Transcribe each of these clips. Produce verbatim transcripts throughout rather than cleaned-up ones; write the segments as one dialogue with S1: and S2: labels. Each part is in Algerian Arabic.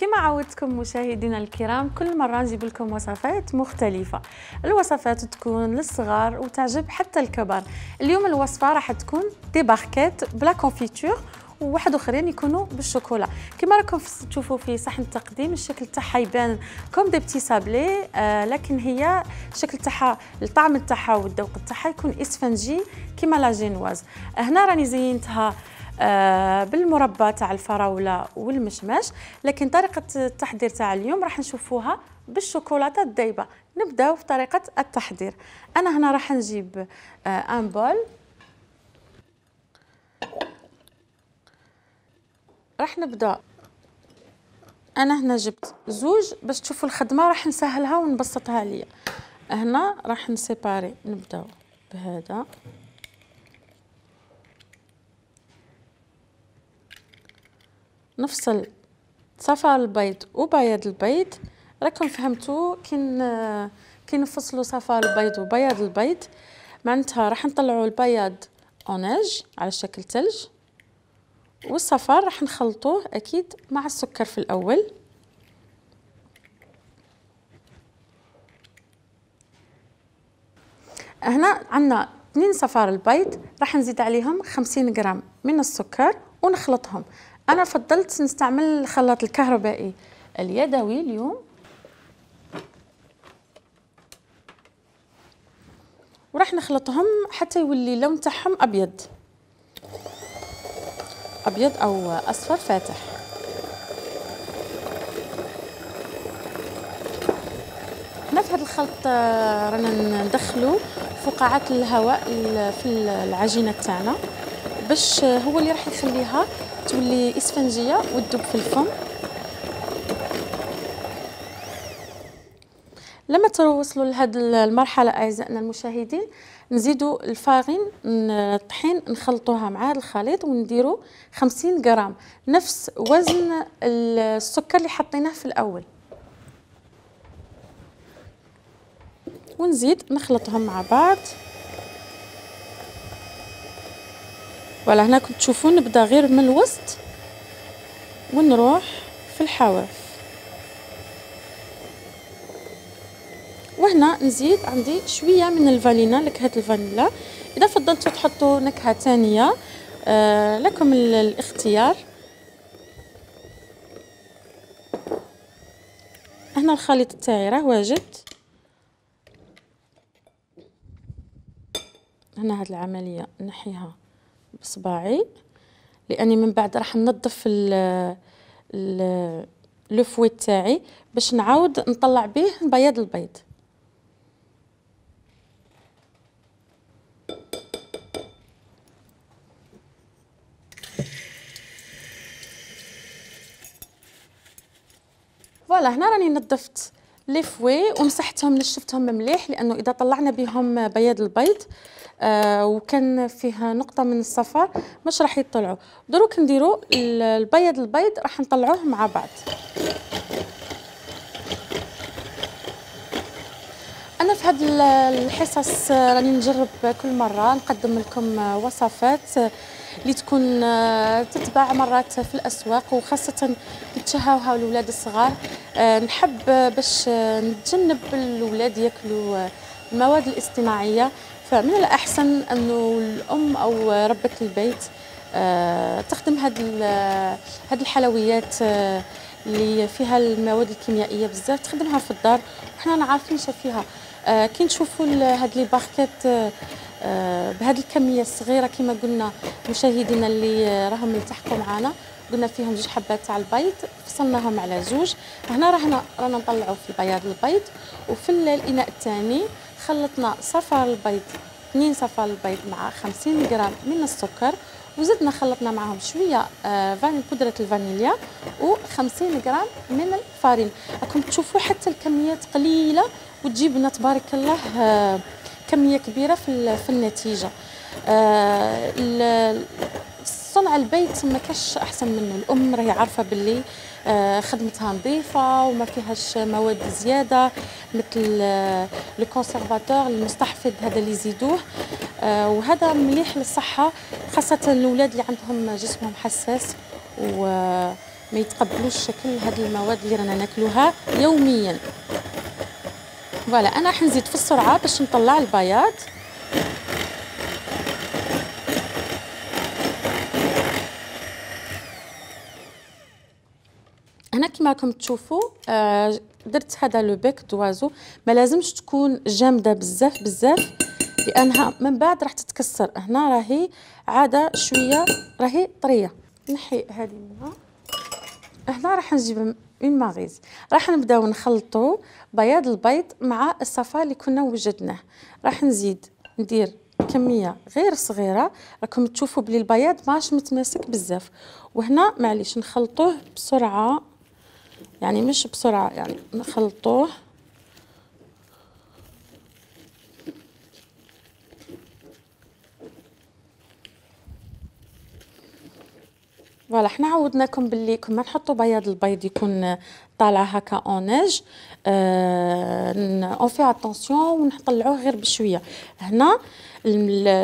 S1: كما عودتكم مشاهدينا الكرام، كل مرة نجيب لكم وصفات مختلفة. الوصفات تكون للصغار وتعجب حتى الكبار. اليوم الوصفة راح تكون دي باركيت بلا كونفيتور، وواحد اخرين يكونوا بالشوكولا. كما راكم تشوفوا في صحن التقديم الشكل تاعها يبان كوم دي بتي سابلي، آه لكن هي الشكل تاعها الطعم تاعها والذوق تاعها يكون اسفنجي كما لا جينواز. هنا راني زينتها آه بالمربى تاع الفراوله والمشماش، لكن طريقه التحضير تاع اليوم راح نشوفوها بالشوكولاته الذايبه. نبداو في طريقه التحضير. انا هنا راح نجيب آه ان بول، راح نبدا. انا هنا جبت زوج باش تشوفوا الخدمه راح نسهلها ونبسطها ليا. هنا راح نسيباري، نبداو بهذا، نفصل صفار البيض وبياض البيض. راكم فهمتوا كي كي نفصلوا صفار البيض وبياض البيض معناتها راح نطلعوا البياض اوناج على شكل ثلج، والصفار راح نخلطوه اكيد مع السكر في الاول. هنا عندنا اثنين صفار البيض، راح نزيد عليهم خمسين غرام من السكر ونخلطهم. انا فضلت نستعمل الخلاط الكهربائي اليدوي اليوم، وراح نخلطهم حتى يولي اللون تاعهم ابيض ابيض او اصفر فاتح. هنا في هذا الخلط رانا ندخلوا فقاعات الهواء في العجينه تاعنا باش هو اللي راح يخليها تولي اسفنجيه وتذوب في الفم. لما توصلوا لهذه المرحله اعزائنا المشاهدين، نزيدوا الفارين الطحين نخلطوها مع هذا الخليط ونديروا خمسين غرام نفس وزن السكر اللي حطيناه في الاول، ونزيد نخلطهم مع بعض. ولا هنا كنت تشوفون نبدا غير من الوسط ونروح في الحواف. وهنا نزيد عندي شويه من الفانيلا، نكهه الفانيلا. اذا فضلتوا تحطوا نكهه ثانيه آه لكم الاختيار. هنا الخليط تاعي راه واجد. هنا هاد العمليه نحيها بصباعي لاني من بعد راح ننظف ال لو فوي تاعي باش نعاود نطلع به بياض البيض. فوالا هنا راني نظفت لي فوي ومسحتهم نشفتهم مليح، لانه اذا طلعنا بهم بياض البيض آه وكان فيها نقطه من الصفار مش راح يطلعوا. دروك نديروا البياض البيض راح نطلعوه مع بعض. انا في هذه الحصص راني نجرب كل مره نقدم لكم وصفات اللي تكون تتباع مرات في الاسواق، وخاصه يتشهوها الاولاد الصغار. نحب باش نتجنب الاولاد ياكلوا المواد الاصطناعيه، فمن الاحسن انه الام او ربة البيت تخدم هذه هذه الحلويات اللي فيها المواد الكيميائيه بزاف، تخدمها في الدار وحنا عارفين فيها. كي نشوفوا هاد لي باركيت بهذه الكميه الصغيره كما قلنا مشاهدينا اللي راهم يلتحقوا معنا، قلنا فيهم جوج حبات تاع البيض فصلناهم على زوج. هنا رانا رانا نطلعوا في بياض البيض، وفي الاناء الثاني خلطنا صفار البيض اثنين صفار البيض مع خمسين غرام من السكر، وزدنا خلطنا معهم شويه آه فاني بودره الفانيليا وخمسين غرام من الفارين. راكم تشوفوا حتى الكميات قليله وتجيب لنا تبارك الله آه كميه كبيره في في النتيجه. آه صنع البيت ما كاش احسن منه. الام راهي عارفه باللي آه خدمتها نظيفه وما فيهاش مواد زياده مثل آه لو كونسيرفاتور المستحفظ هذا اللي يزيدوه. آه وهذا مليح للصحه، خاصه الاولاد اللي عندهم جسمهم حساس و ما يتقبلوش شكل هاد المواد اللي رانا ناكلوها يوميا. فوالا انا راح نزيد في السرعه باش نطلع البياض. هنا كما راكم تشوفوا آه درت هذا لو بيك دوازو، ما لازمش تكون جامده بزاف بزاف لانها من بعد راح تتكسر. هنا راهي عاده شويه راهي طريه. نحي هذه منها. هنا راح نجيب اون ماغيز، راح نبداو نخلطوا بياض البيض مع الصفا اللي كنا وجدناه. راح نزيد ندير كميه غير صغيره، راكم تشوفوا بلي البياض ماش متماسك بزاف. وهنا معليش نخلطوه بسرعه، يعني مش بسرعه، يعني نخلطوه فوالا. حنا عودناكم باللي كنا نحطوا بياض البيض يكون طالع هكا اونيج، اون في اتونسيون ونطلعوه غير بشويه. هنا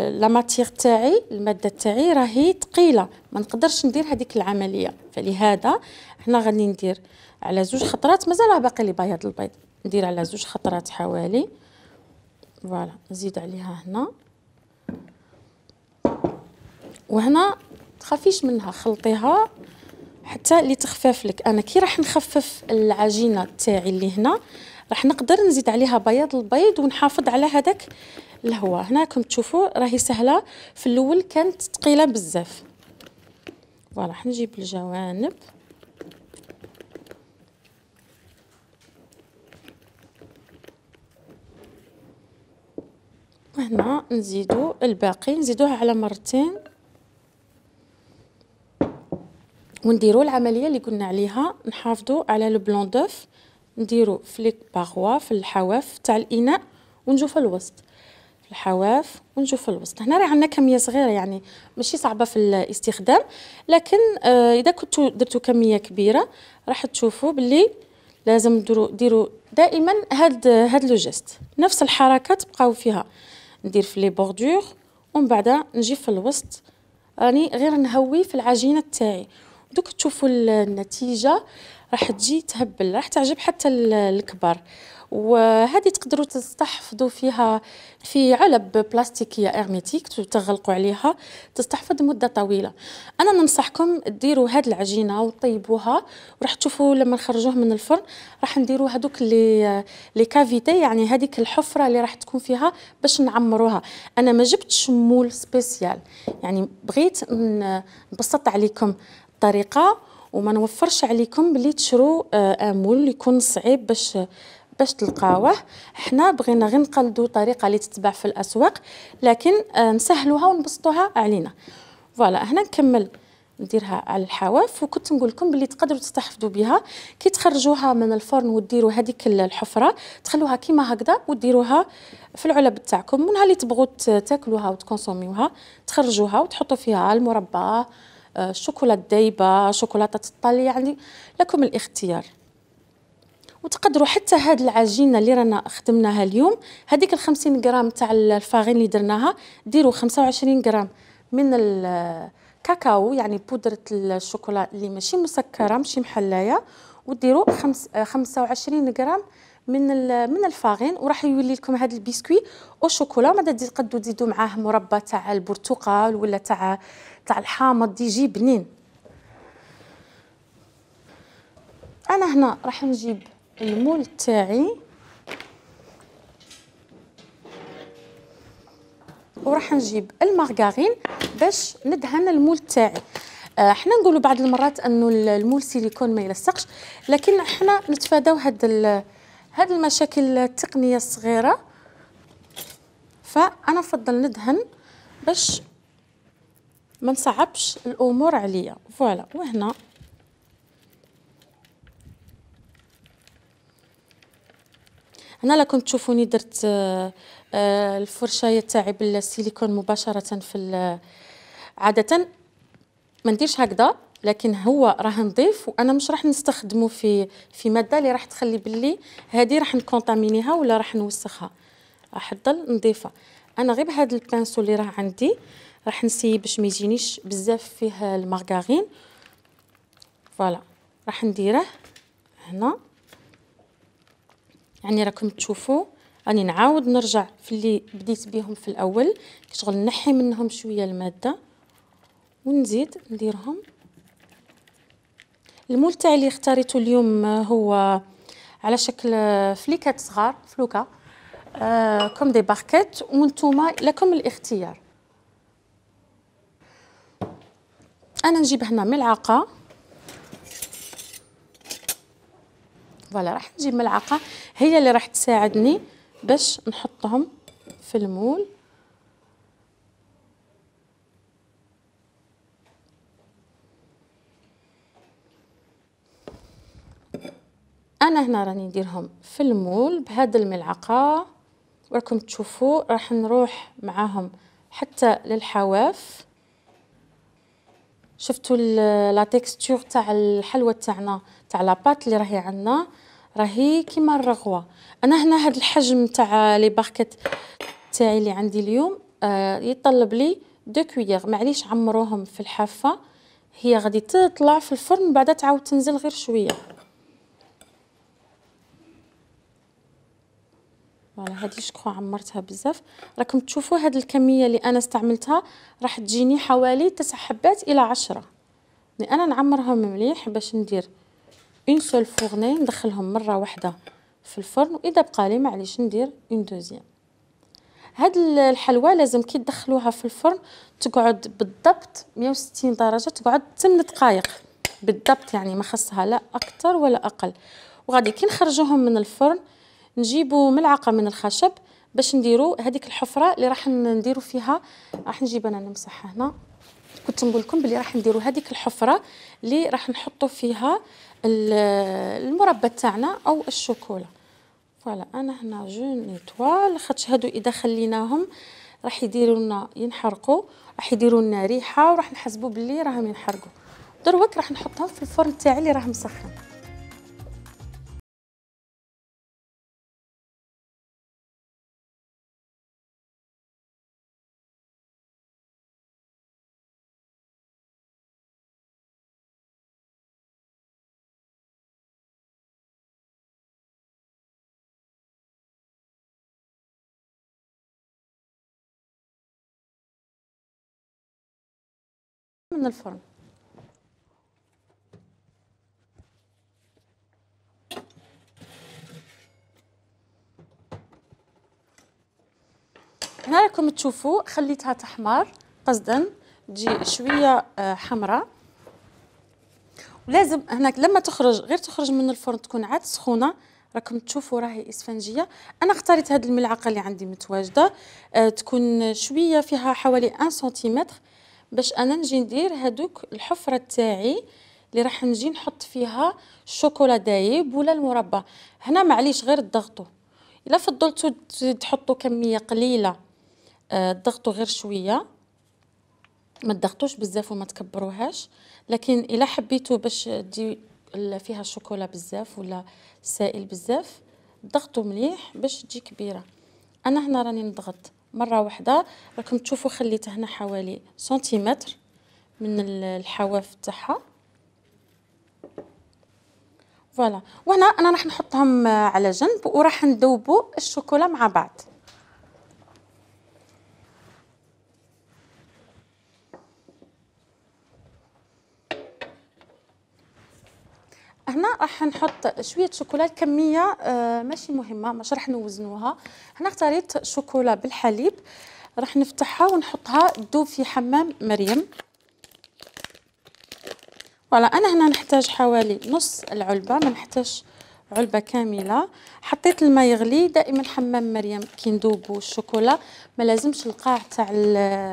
S1: لا ماتير تاعي، الماده تاعي راهي ثقيله، ما نقدرش ندير هذيك العمليه، فلهذا هنا غادي ندير على زوج خطرات. مازال باقي لي بياض البيض، ندير على زوج خطرات حوالي. فوالا نزيد عليها هنا، وهنا تخافيش منها، خلطيها حتى اللي تخفف لك. انا كي راح نخفف العجينه تاعي اللي هنا راح نقدر نزيد عليها بياض البيض ونحافظ على هذاك الهواء. هنا راكم تشوفوا راهي سهله، في الاول كانت ثقيله بزاف. فوالا راح نجيب الجوانب وهنا نزيدو الباقي، نزيدوها على مرتين ونديروا العمليه اللي قلنا عليها. نحافظوا على لو بلون دوف، نديروا في لي باغوا في الحواف تاع الاناء ونجوا في الوسط، في الحواف ونجوا في الوسط. هنا راه عندنا كميه صغيره، يعني ماشي صعبه في الاستخدام، لكن آه اذا كنتوا درتوا كميه كبيره راح تشوفوا باللي لازم ديروا ديروا دائما هاد هاد لو جيست، نفس الحركه تبقاو فيها. ندير في لي بوردور ومن بعد نجي في الوسط، راني غير نهوي في العجينه تاعي. دوك تشوفوا النتيجه راح تجي تهبل، راح تعجب حتى الكبار. وهذه تقدروا تستحفظوا فيها في علب بلاستيكيه ارميتيك، تغلقوا عليها تستحفظ مده طويله. انا ننصحكم ديروا هذه العجينه وطيبوها، وراح تشوفوا لما نخرجوه من الفرن راح نديروا هذوك لي لي كافيتي، يعني هذيك الحفره اللي راح تكون فيها باش نعمروها. انا ما جبتش مول سبيسيال، يعني بغيت نبسط عليكم الطريقه وما نوفرش عليكم بلي تشرو امول يكون صعيب باش باش تلقاوه. حنا بغينا غير نقلدوا طريقه اللي تتباع في الاسواق، لكن نسهلوها ونبسطوها علينا. فوالا هنا نكمل نديرها على الحواف، وكنت نقول لكم بلي تقدروا تستحفظوا بها كي تخرجوها من الفرن وديروا هذيك الحفره، تخلوها كيما هكذا وديروها في العلب تاعكم، ونهار اللي تبغوا تاكلوها وتكونسوميوها تخرجوها وتحطوا فيها المربى، الشوكولاته دايبه، شوكولاته الطلي، يعني لكم الاختيار. وتقدروا حتى هاد العجينه اللي رانا خدمناها اليوم، هذيك الخمسين غرام تاع الفارين اللي درناها، ديروا خمسة وعشرين غرام من الكاكاو، يعني بودره الشوكولا اللي ماشي مسكره ماشي محلايه، وديروا خمسة وعشرين غرام من من الفارين، وراح يولي لكم هذا البسكوي او شوكولا. ماذا تقدروا تزيدوا معاه مربى تاع البرتقال ولا تاع تاع الحامض، يجي بنين. انا هنا راح نجيب المول تاعي وراح نجيب المارغرين باش ندهن المول تاعي. احنا نقولوا بعض المرات انه المول سيليكون ما يلصقش، لكن احنا نتفاداو هاد هاد المشاكل التقنيه الصغيره، فانا نفضل ندهن باش ما نصعبش الامور عليا. فوالا وهنا هنا لا كنت تشوفوني درت الفرشايه تاعي بالسيليكون مباشره في عاده ما نديرش هكذا، لكن هو راه نظيف وانا مش راح نستخدمه في في ماده اللي راح تخلي باللي هذه راح نكونطامينيها ولا راح نوسخها، راح تضل نظيفه. انا غير بهذا البانسو اللي راه عندي راح نسيي باش ما يجينيش بزاف فيه المارغرين. فوالا راح نديره هنا. يعني راكم تشوفوا راني نعاود نرجع في اللي بديت بيهم في الاول، شغل نحي منهم شويه الماده ونزيد نديرهم. المول تاعي اللي اختاريته اليوم هو على شكل فليكات صغار، فلوكه آه كوم دي باركيت، وانتوما لكم الاختيار. انا نجيب هنا ملعقه، فوالا راح نجيب ملعقه هي اللي راح تساعدني باش نحطهم في المول. انا هنا راني نديرهم في المول بهذه الملعقه، وراكم تشوفوا راح نروح معاهم حتى للحواف. شفتوا لا تيكستور تاع الحلوى تاعنا تاع لاباط اللي راهي عندنا، راهي كيما الرغوه. انا هنا هذا الحجم تاع لي باركيت تاعي اللي عندي اليوم آه يطلب لي دو كويير. معليش عمروهم في الحافه، هي غادي تطلع في الفرن بعدا تعاود تنزل غير شويه. فوالا هذه شكون عمرتها بزاف. راكم تشوفوا هذه الكميه اللي انا استعملتها راح تجيني حوالي تسع حبات الى عشرة. يعني انا نعمرهم مليح باش ندير اون سول فورني، ندخلهم مره واحده في الفرن، واذا بقى لي معليش ندير اون دوزيام. هاد الحلوى لازم كي تدخلوها في الفرن تقعد بالضبط مية وستين درجه، تقعد ثمانية دقائق بالضبط، يعني ما خصها لا اكثر ولا اقل. وغادي كي نخرجوهم من الفرن نجيبوا ملعقه من الخشب باش نديروا هذيك الحفره اللي راح نديروا فيها. راح نجيب انا نمسحها هنا. كنت نقول لكم بلي راح نديروا هذيك الحفره اللي راح نحطوا فيها المربى تاعنا او الشوكولا. فوالا انا هنا جو نيطوال، خاطش هادو اذا خليناهم راح يديروا لنا ينحرقوا، راح يديروا لنا ريحه، وراح نحسبوا بلي راهم ينحرقوا. دروك راح نحطهم في الفرن تاعي اللي راه مسخن. من الفرن هنا راكم تشوفوا خليتها تحمر قصدا تجي شويه حمراء. ولازم هناك لما تخرج غير تخرج من الفرن تكون عاد سخونه. راكم تشوفوا راهي اسفنجيه. انا اختاريت هذه الملعقه اللي عندي متواجده أه تكون شويه فيها حوالي واحد سنتيمتر باش انا نجي ندير هذوك الحفره تاعي اللي راح نجي نحط فيها الشوكولا دايب ولا المربى. هنا معليش غير تضغطوا، الا فضلتوا تحطوا كميه قليله أه تضغطوا غير شويه، ما تضغطوش بزاف وما تكبروهاش. لكن الا حبيتوا باش تجي فيها الشوكولا بزاف ولا سائل بزاف ضغطوا مليح باش تجي كبيره. انا هنا راني نضغط مره واحده. راكم تشوفوا خليت هنا حوالي سنتيمتر من الحواف تاعها. فوالا وهنا انا راح نحطهم على جنب وراح نذوبوا الشوكولا مع بعض. هنا راح نحط شويه شوكولا. الكميه آه ماشي مهمه، مش راح نوزنوها. هنا اختاريت شوكولا بالحليب، راح نفتحها ونحطها تذوب في حمام مريم. فوالا انا هنا نحتاج حوالي نص العلبه، ما نحتاج علبه كامله. حطيت الماء يغلي. دائما حمام مريم كي نذوبوا الشوكولا ما لازمش القاع تاع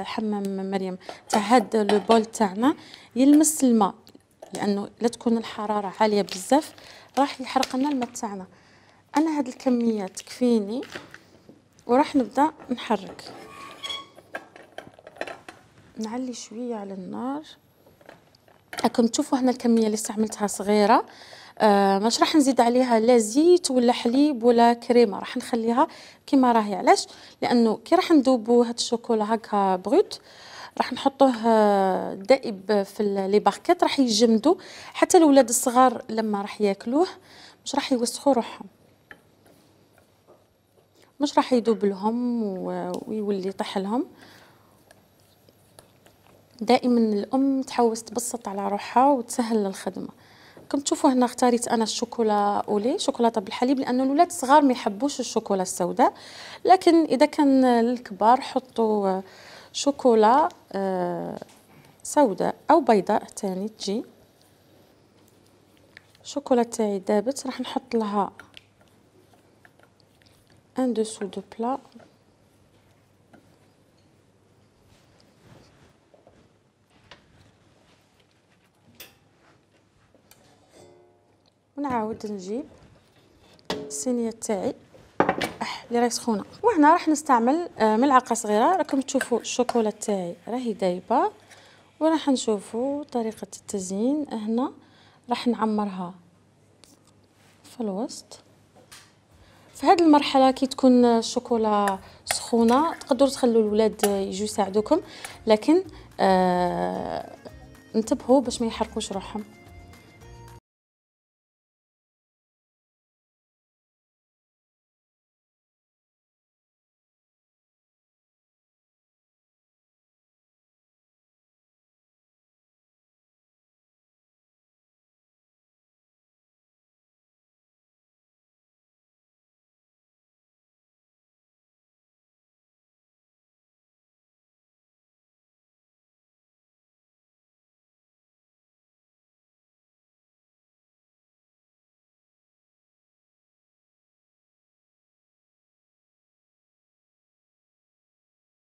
S1: حمام مريم تاع هاد لو بول تاعنا يلمس الماء، لانه لا تكون الحراره عاليه بزاف راح يحرق لنا الماء تاعنا. انا هاد الكميه تكفيني وراح نبدا نحرك. نعلي شويه على النار. راكم تشوفوا هنا الكميه اللي استعملتها صغيره. آه مش راح نزيد عليها لا زيت ولا حليب ولا كريمه، راح نخليها كما راهي. علاش؟ لانه كي راح نذوبوا هاد الشوكولا هكا بغوت راح نحطوه دائب في لي باركيت، راح يجمدوا حتى الاولاد الصغار لما راح ياكلوه مش راح يوسخوا روحهم، مش راح يذوب لهم ويولي يطيح لهم. دائما الام تحوس تبسط على روحها وتسهل الخدمه. كم تشوفوا هنا اختاريت انا الشوكولا اولي، شوكولاته بالحليب، لانه الاولاد الصغار ما يحبوش الشوكولا السوداء، لكن اذا كان للكبار حطوا شوكولا سوداء او بيضاء ثاني تجي. الشوكولا تاعي دابت، راح نحط لها ان دوسو دو بلا ونعاود نجيب الصينيه تاعي اللي راهي سخونه، وهنا راح نستعمل ملعقه صغيره. راكم تشوفوا الشوكولا تاعي راهي دايبه، وراح نشوفوا طريقه التزيين. هنا راح نعمرها في الوسط. في هذه المرحله كي تكون الشوكولا سخونه تقدروا تخلوا الولاد يجوا يساعدوكم، لكن آه انتبهوا باش ما يحرقوش روحهم.